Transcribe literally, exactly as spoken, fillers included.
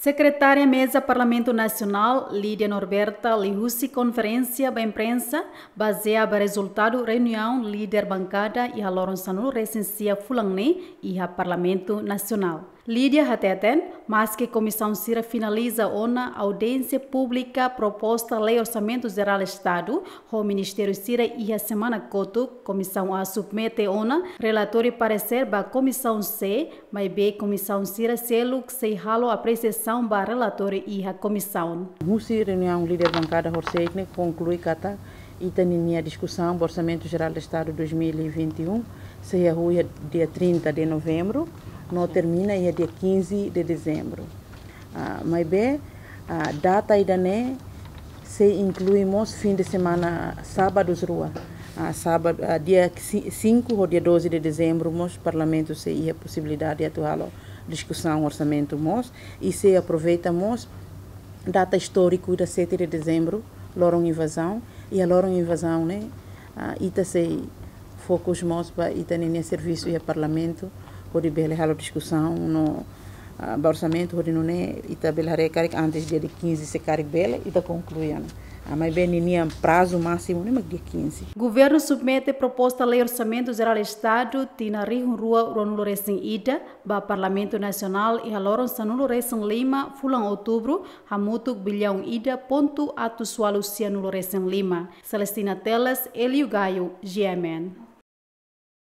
Sekretária Meza Parlamentu Nasionál, Lídia Norberta, liuhusi konferénsia ba imprensa, bazeia ba rezultadu reuniaun líder bankada iha loron sanulu-resin-sia fulan ne'e iha Parlamentu Nasionál. Lídia hateten, maske komisaun sira finaliza ona audiénsia públika proposta lei Orsamentu Jerál Estadu ho ministériu sira iha semana kotuk, Komisaun A submete ona relatóriu paresér ba Komisaun C, maibé komisaun sira seluk sei halo apresiasaun ba relatóriu iha komisaun. Husi reuniaun líder bankada horisehik ne'e konklui katak ita-ninia diskusaun ba Orsamentu Jerál Estadu dois mil e vinte e um sei hahú iha dia trinta de novembro, no termina iha dia quinze de dezembro. Ah, maibé, ah, data ida-ne'e sei inklui mós fin de semana sábadus rua. Ah, sábadu, ah, dia si-, cinco ho dia doze de dezembro mós Parlamentu sei iha posibilidade atu halo diskusaun orsamentu mós, i sei aproveita mós data istóriku ida sete de dezembro, loron invazaun, i iha loron invazaun ne'e, ah, ita sei fokus mós ba ita-ninia servisu iha Parlamentu, hodi bele halo diskusaun no, ah, ba orsamentu, hodi nune'e ita bele haree karik antes dia de quinze se karik bele, ita konklui ona. Ah, maibé ninia prazu másimu ne'e mak dia quinze. Governu submete proposta lei Orsamentu Jerál Estadu tinan rihun rua ruanulu-resin-ida ba Parlamentu Nasionál iha loron sanulu-resin-lima fulan Outubru, hamutuk biliaun ida pontu atus ualu sianulu-resin-lima. Celestina Teles, Elio Gaio, G M N.